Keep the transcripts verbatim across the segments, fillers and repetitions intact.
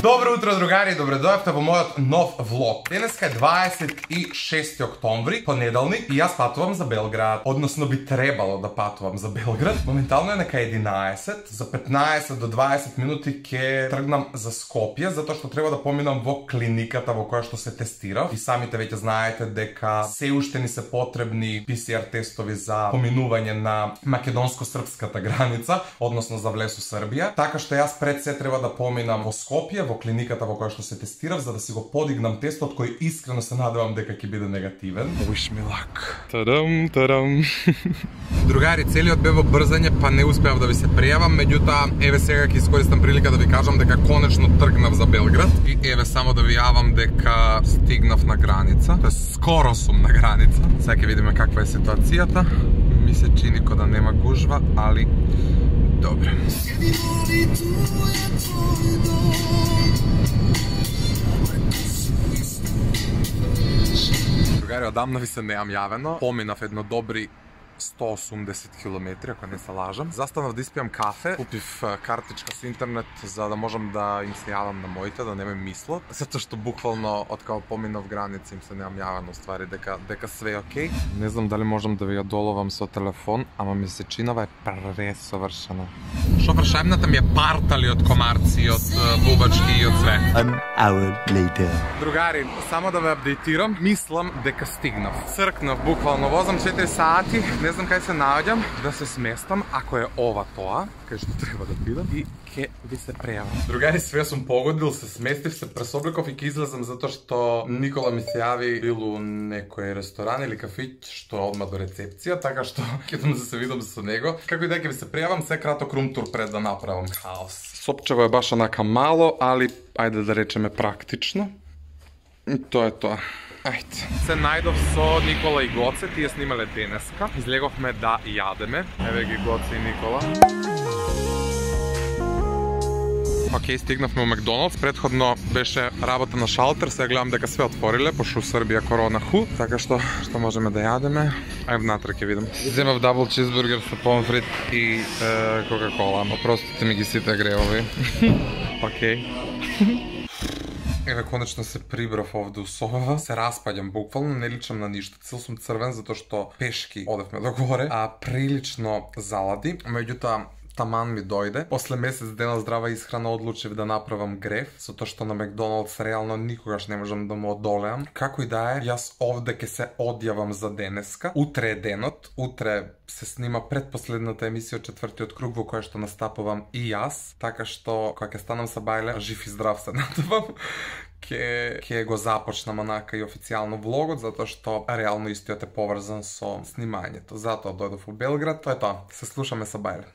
Добро утро, другари, добре дојавте во мојот нов влог. Денеска е дваесет и шести октомври, понеделник, и јас патувам за Белград. Односно би требало да патувам за Белград. Моментално е нека единаесет, за петнаесет до дваесет минути ќе тргнам за Скопје, затоа што треба да поминам во клиниката во која што се тестирав. И самите веќе знаете дека се уште ни се потребни пи си ар тестови за поминување на македонско-српската граница, односно за влез у Србија. Така што јас пред се треба да поминам во Скопје, во клиниката во која што се тестирав, за да си го подигнам тестот, кој искрено се надевам дека ќе биде негативен. Wish me luck. Тадам, тадам. Другари, целиот бе во брзање, па не успеав да ви се пријавам, меѓутоа еве сега ќе искористам прилика да ви кажам дека конечно тргнав за Белград и еве само да ви јавам дека стигнав на граница, тоест скоро сум на граница. Сега ќе видиме каква е ситуацијата. Ми се чини како да нема гужва, али добре. Другари, одамна ви се неам јавено. Поминав едно добри сто и осумдесет километри, ако не се лажам. Застанав да испијам кафе, купив картичка со интернет за да можам да им се јавам на моите, да не ме мислат. Затоа што буквално од кога поминав граница им се неам јавено ствари дека дека све е окей. Не знам дали можам да ви ја доловам со телефон, ама ми се чинава е пресовршена. Шофершајбната ми е партали од комарци, од бубачки и од све. An hour later. Другари, само да ве апдейтирам, мислам дека стигнав. Цркнав, буквално возам четири сати. Не знам кај се наоѓам, да се сместам, ако е ова тоа, кај што треба да бидам, и ќе ви се прејавам. Другари, све сум погодил, се сместив, се пресобликов и ќе излезам затоа што Никола ми се јави бил у некој ресторан или кафиќ што одма до рецепција, така што ќе идам да се видам со него. Како и да ќе ви се прејавам, се краток рум-тур пред да направам хаос. Сопчево е баш онака мало, али ајде да речеме практично. И тоа е тоа. Ајде. Се најдов со Никола и Гоце, тие снимале денеска. Излеговме да јадеме. Еве ги Гоце и Никола. Океј, стигнавме у Макдоналдс. Предходно беше работа на шалтер, сега гледам дека све отвориле, пошто у Србија корона ху. Така што, што можеме да јадеме? Ај внатре ќе видам. Земав дабл чизбургер со помфрит и е, кока-кола. Опростите ми ги сите гревови. Океј. Еве, конечно се прибрав овде у собава, се распаѓам буквално, не личам на ништо. Цел сум црвен затоа што пешки одевме до горе, а прилично залади. Меѓутоа, таман ми дојде. После месец дена здрава исхрана одлучив да направам греф, затоа што на Макдоналдс реално никогаш не можам да му одолеам. Како и да е, јас овде ќе се одјавам за денеска. Утре е денот, утре се снима предпоследната емисија од четвртиот круг во која што настапувам и јас, така што кога ќе станам са бајле, жив и здрав се надевам. Ке, ке го започнам онака и официјално влогот, затоа што реално истиот е поврзан со снимањето. Затоа дојдов у Белград, тоа е тоа. Се слушаме са бајле.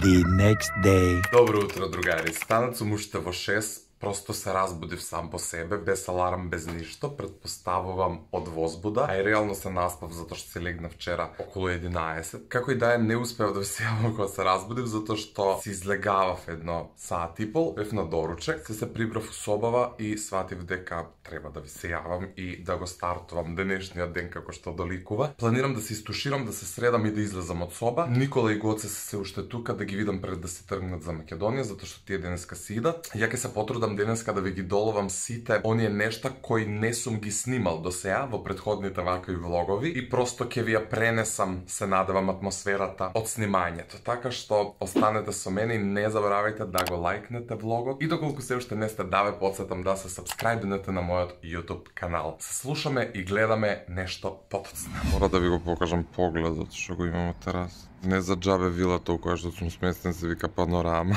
The next day. Добро утро, другари. Станат сум уште во шест. Просто се разбудив сам по себе, без аларм, без ништо, предпоставувам од возбуда, а и реално се наспав затоа што се легнав вчера околу единаесет. Како и да е, не успеав да се јавам кога се разбудив, затоа што си излегавав едно саат и пол, бев на доручек, се се прибрав у собава и сватив дека треба да ви се јавам и да го стартувам денешниот ден како што доликува. Планирам да се истуширам, да се средам и да излезам од соба. Никола и Гоце се се уште тука, да ги видам пред да се тргнат за Македонија, затоа што тие денеска си идат. Ја ќе се потрудам денеска да ви ги доловам сите оние нешта кои не сум ги снимал до сега во претходните вакви влогови и просто ќе ви ја пренесам, се надевам, атмосферата од снимањето. Така што останете со мене и не заборавајте да го лајкнете влогот и доколку се уште не сте, да ве потсетам да се сабскрајбнете на мојот YouTube канал. Се слушаме и гледаме нешто потоцно. Мора да ви го покажам погледот што го имам од терас. Не за џабе вилата у која што сум сместен се вика панорама.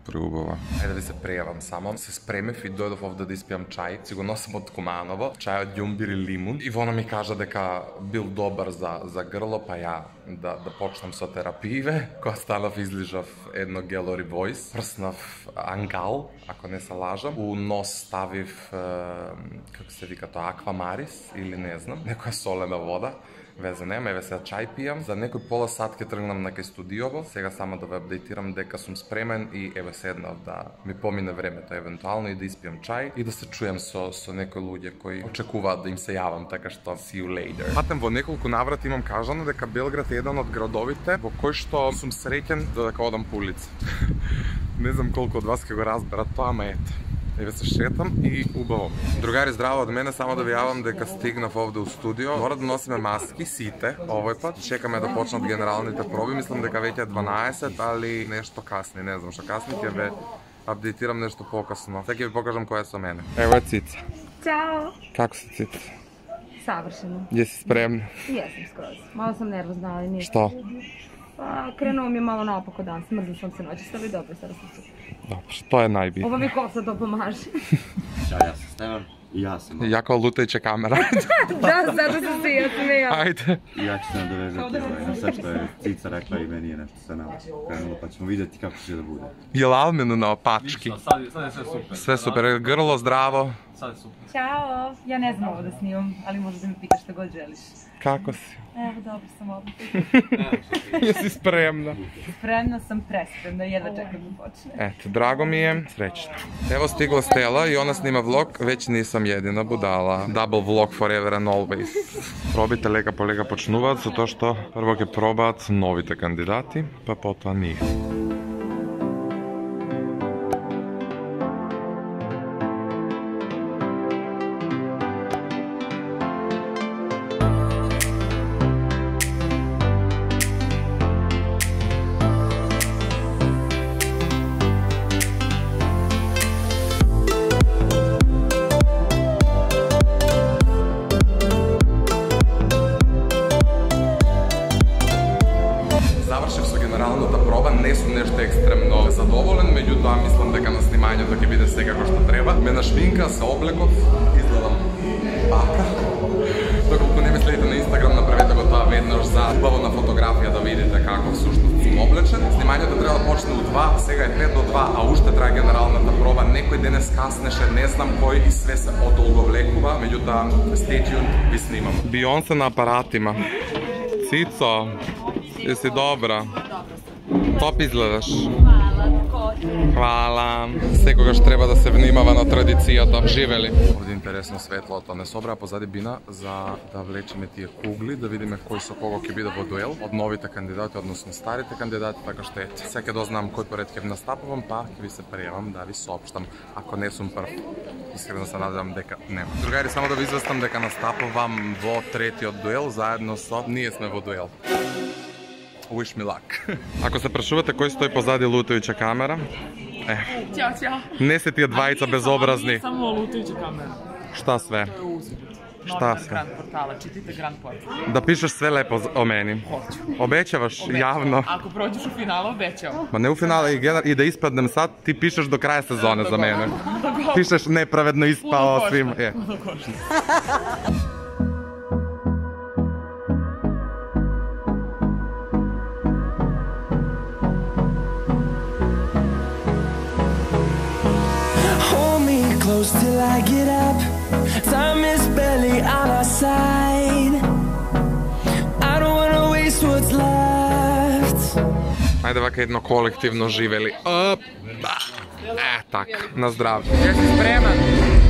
Преубава. Ајде да ви се прејавам само. Се спремев и дојдов овде да испијам чај. Си го носам од Куманово. Чај од ѓумбир и лимун. Ивона ми кажа дека бил добар за, за грло, па ја да, да почнам со терапииве. Кога станав излижав едно Gallery Voice. Прснав ангал, ако не се лажам. У нос ставив, е, како се вика тоа, аквамарис или не знам, некоја солена вода. Везе нема, еве сега чај пијам. За некој пола сат ќе тргнам на кај студиово. Сега само да ве апдейтирам дека сум спремен и еве седнав да ми помине времето евентуално и да испијам чај и да се чуjem со со некои луѓе кои очекуваат да им се јавам, така што see you later. Патем во неколку наврати имам кажано дека Белград е еден од градовите во кој што сум среќен додека одам по улица. Не знам колку од вас ќе го разберат тоа, ама ете. Еве се шетам и убаво. Другари, здраво од мене, само да ви јавам дека стигнав овде у студио. Мора да носиме маски, сите, овој пат. Чекаме да почнат генералните проби, мислам дека веќе е дванаесет, али нешто касни, не знам што касни, ќе ве апдейтирам нешто покасно. Сега ќе ви покажам која е со мене. Ево е Цица. Ćao! Како си, Цица? Savršeno. Jesi spremna? Jesam skroz. Malo sam nervozna, ali nije. Što? Pa, krenuo mi je malo naopako dan, smrzla sam se noći, ali dobro, sada sam se. Dobro, to je najbitnije. Ova mi kosa to pomaže. Ćao, ja sam Stevan i ja sam... Jako lutajuća kamera. Da, zato sam se ja smijala. Ajde. I ja ću se nadovezati ovaj, na sve što je Cica rekla i meni je nešto sa nama krenulo, pa ćemo vidjeti kako će da bude. Je li Almenu na opački? Ništa, sad je, sad je sve super. Sve super, grlo zdravo. Sad je super. Ćao! Ja ne znam ovo da snimam, ali možeš da mi pitaš što god želiš. Kako si? Evo, dobro sam ovdje. Jesi spremna? Spremna sam, prespremna, jedva čekam da počne. Eto, drago mi je, srećno. Evo stigla Stela i ona snima vlog, već nisam jedina budala. Double vlog forever and always. Probite лека по лека почнуваат, затоа што прво ќе пробаат новите кандидати, па потоа ние. Не сум нешто екстремно задоволен, меѓутоа мислам дека на снимањето ќе биде сега како што треба. Ме нашминка, се облеков, изгледам бака. Доколку не ме следите на Инстаграм, направете го тоа веднаш за убаво на фотографија да видите како всушност сум облечен. Снимањето треба да почне у два, сега е пет до два, а уште трае генералната проба. Некој денес каснеше, не знам кој и све се одолговлекува, меѓутоа stay tuned, ви снимам. Бионсе на апаратима. Цицо, еси добра? Топ изгледаш. Хвала. Секогаш треба да се внимава на традицијата. Живели. Овде интересно светлото не собра позади бина за да влечеме тие кугли, да видиме кој со кого ќе биде во дуел од новите кандидати, односно старите кандидати, така што ете. Сега ќе дознам кој поред ќе настапувам, па ќе ви се пријавам да ви соопштам ако не сум прв. Искрено се надевам дека нема. Другари, само да ви известам дека настапувам во третиот дуел заедно со ние сме во дуел. Wish me luck. Ако се прашувате кој стои позади лутаjuća камера, е. Ćao, ćao. Не се тие двајца безобразни. Само lutajuća камера. Šta sve? To je uzor. Šta Novinar sve? Grand portala, čitajte Grand portal. Da pišeš sve lepo o meni. Hoću. Obećavaš Obećavam. javno. Ako prođeš u finalu, obećavam. Ma ne u finale i, i da ispadnem sad, ti pišeš do kraja sezone za mene. Dogovor. Pišeš nepravedno ispao Puno svim. košta. Je. Puno košta. Close till I get up. Time is barely on our side. I don't wanna waste what's left. Ajde ovako jedno kolektivno živeli. Op. E, tak, na zdravlje. Jesi spreman?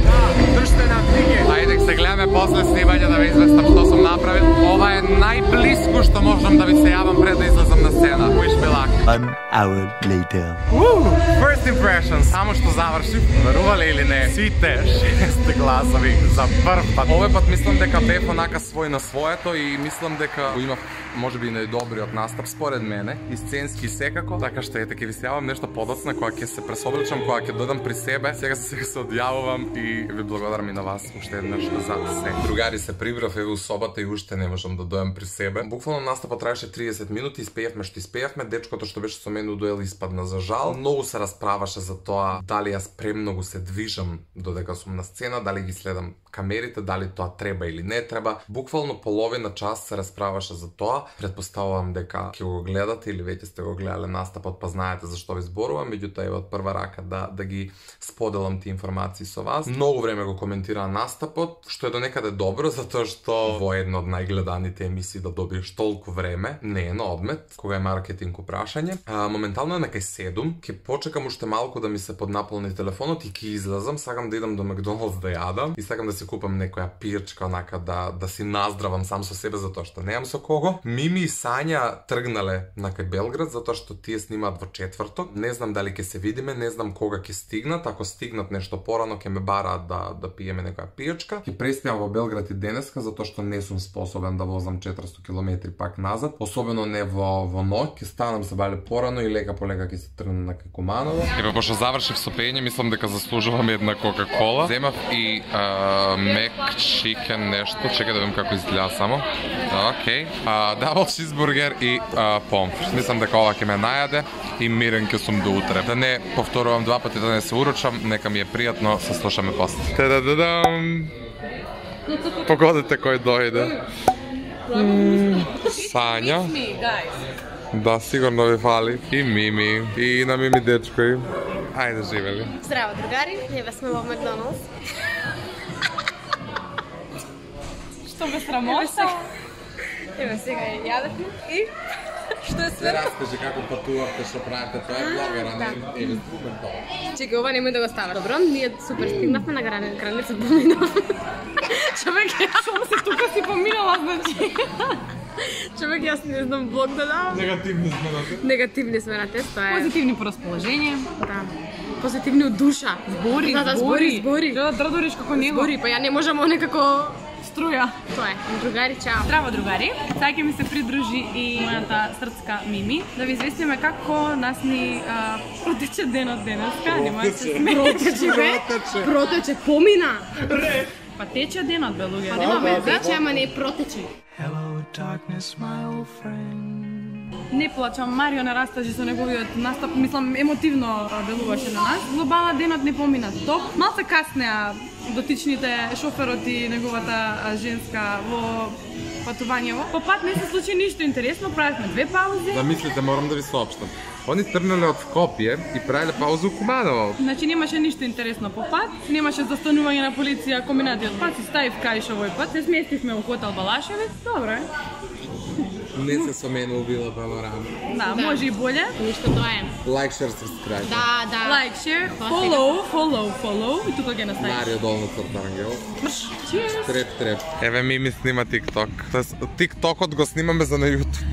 Da, držite nam knjige. Ajde se gledame posle snimanja da vi izvestam što sam napravil. Ova je najblisku što možem da vi se javam pred da izlazam na scena. Wish me luck. One hour later. Woo! First impressions. Samo što završim, veruvali ili ne, svi te šeste glasovi za prv pat. Овој пат мислам дека бев онака свој на своето и мислам дека имав може би најдобриот настап според мене, и сценски секако, така што ете ќе ви се јавам нешто подоцна кога ќе се пресобличам, кога ќе додам при себе. Сега се сега се одјавувам и ви благодарам и на вас уште еднаш за се. Другари, се прибрав еве у собата и уште не можам да дојам при себе. Буквално настапот траеше триесет минути, испеевме што испеевме, дечкото што беше со мене у дуел испадна за жал. Многу се расправаше за тоа дали јас премногу се движам додека сум на сцена, дали ги следам камерите, дали тоа треба или не треба. Буквално половина час се расправаше за тоа. Предпоставувам дека ќе го гледате или веќе сте го гледале настапот, па знаете зашто ви зборувам, меѓутоа еве од прва рака да да ги споделам тие информации со вас. Многу време го коментираа настапот, што е до некаде добро, затоа што во една од најгледаните емисии да добиеш толку време не е на одмет, кога е маркетинг прашање. А, моментално е на кај седум, ќе почекам уште малку да ми се поднаполни телефонот и ќе излезам, сакам да идам до Макдоналдс да јадам и сакам да си се купам некоја пијачка, онака да да си наздравам сам со себе затоа што немам со кого. Мими и Сања тргнале на кај Белград затоа што тие снимаат во четврток. Не знам дали ќе се видиме, не знам кога ќе стигнат. Ако стигнат нешто порано ќе ме бараат да да пиеме некоја пијачка. Ќе преспиам во Белград и денеска затоа што не сум способен да возам четиристо километри пак назад, особено не во во ноќ. Ќе станам се бале порано и лека по лека ќе се тргнам на кај Куманово. Еве пошто завршив со пење, мислам дека заслужувам една Кока-кола. Земав и мек чикен нешто, чекај да видам како изгледа само. Океј. Дабл чизбургер и помфрит. Мислам дека ова ќе ме најаде и мирен ќе сум до утре. Да не повторувам два пати, да не се урочам, нека ми е пријатно, се слушаме после. Та-да-да-дам! Погодите кој дојде. Сања. Да, сигурно ви фали. И Мими. И на Мими дечко. Ајде, живели. Здраво, другари. Еве сме во Макдоналдс. Што ме срамота? Еве сега јадевме и што е све? Раскажи како патувавте, што правите, тоа е блогер, а не еве супер тоа. Чекај, ова немој да го ставаш. Добро, ние супер стигнавме на граница, граница поминав. Човек, Шум се тука си поминала, значи. човек, јас не знам блог да давам. Негативни сме на те. Негативни сме на тест, тоа е. Позитивни по расположение. Да. Позитивни од душа. Збори, Да, да, збори, збори. Да дрдориш како него. Збори, па ја не можам некако Струја. тоа е. Другари, чао. Здраво, другари! Сега ќе ми се придружи и мојата српска Мими да ви известиме како нас ни а, протече денот денеска. Нема да се смеете. Протече, бе. Протече, помина. Па тече денот, бе, луѓе. Нема тече, ама не протече. Hello, darkness, my old friend. Не плачам, Марио на растажи со неговиот настап, мислам, емотивно делуваше на нас. Глобала денот не помина топ. Малце каснеа дотичните шоферот и неговата женска во патувањево. По пат не се случи ништо интересно, правевме две паузи. Да мислите, морам да ви соопштам. Они тргнале од Скопје и правеле паузу у Куманово. Значи немаше ништо интересно по пат, немаше застанување на полиција комбинатиот пат, си ставив каиш овој пат, се сместивме у хотел Балашевец, добро е. Не се со мене убила панорама. Да, може и боле. Ништо тоа е. Лайк, шер, сабскрајб. Да, да. Like, share, follow, follow, follow и тука ги наставиш. Марио долна црта ангел. Cheers! Треп, треп. Еве Мими снима TikTok. TikTokот го снимаме за на YouTube.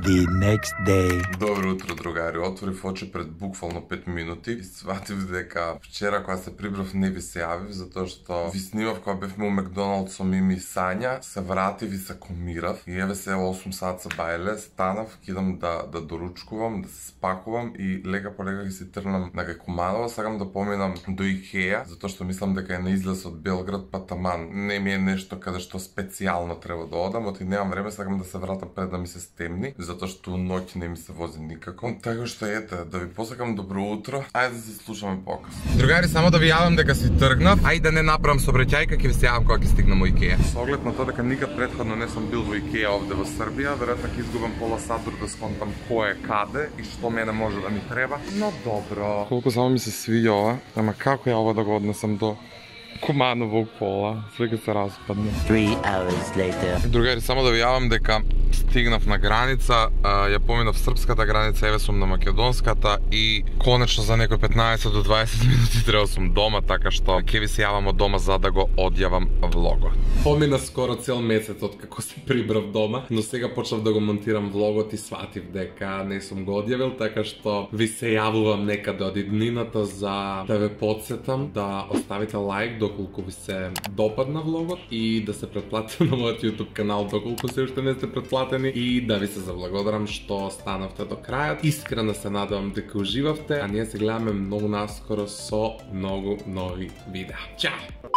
The next day. Добро утро, другари. Отворив очи пред буквално пет минути и сватив дека вчера кога се прибрав не ви се јавив затоа што ви снимав кога бевме у Макдоналдс со Мими и Сања, се вратив и се комирав и еве се осум сат се бајле, станав, кидам да да доручкувам, да се спакувам и лека по лека ги се тргнам на кај Куманово, сакам да поминам до Икеа, затоа што мислам дека е на излез од Белград, па таман не ми е нешто каде што специјално треба да одам, оти немам време, сакам да се вратам пред да ми се стемни, затоа што ноќ не ми се вози никако. Така што ете, да ви посакам добро утро. Ајде да се слушаме покас. Другари, само да ви јавам дека си тргнав, ај да не направам сообраќајка, ќе ви се јавам кога ќе стигнам во Икеа. Со оглед на тоа дека никад претходно не сум бил во Икеа овде во Србија, веројатно ќе изгубам пола сат да сконтам кој е каде и што мене може да ми треба. Но добро. Колку само ми се свиѓа ова, ама како ја ова да го однесам до Куманово у пола, свеќе се распадне. Three hours later. Другари, само да ви јавам дека стигнав на граница, ја поминав српската граница, еве сум на македонската и конечно за некој петнаесет до дваесет минути треба сум дома, така што ќе ви се јавам од дома за да го одјавам влогот. Помина скоро цел месец од како се прибрав дома, но сега почнав да го монтирам влогот и сватив дека не сум го одјавил, така што ви се јавувам некаде од иднината за да ве потсетам да оставите лайк доколку ви се допадна влогот и да се претплатите на мојот YouTube канал доколку се уште не сте претплатени и да ви се заблагодарам што станавте до крајот. Искрено се надевам дека уживавте, а ние се гледаме многу наскоро со многу нови видеа. Чао!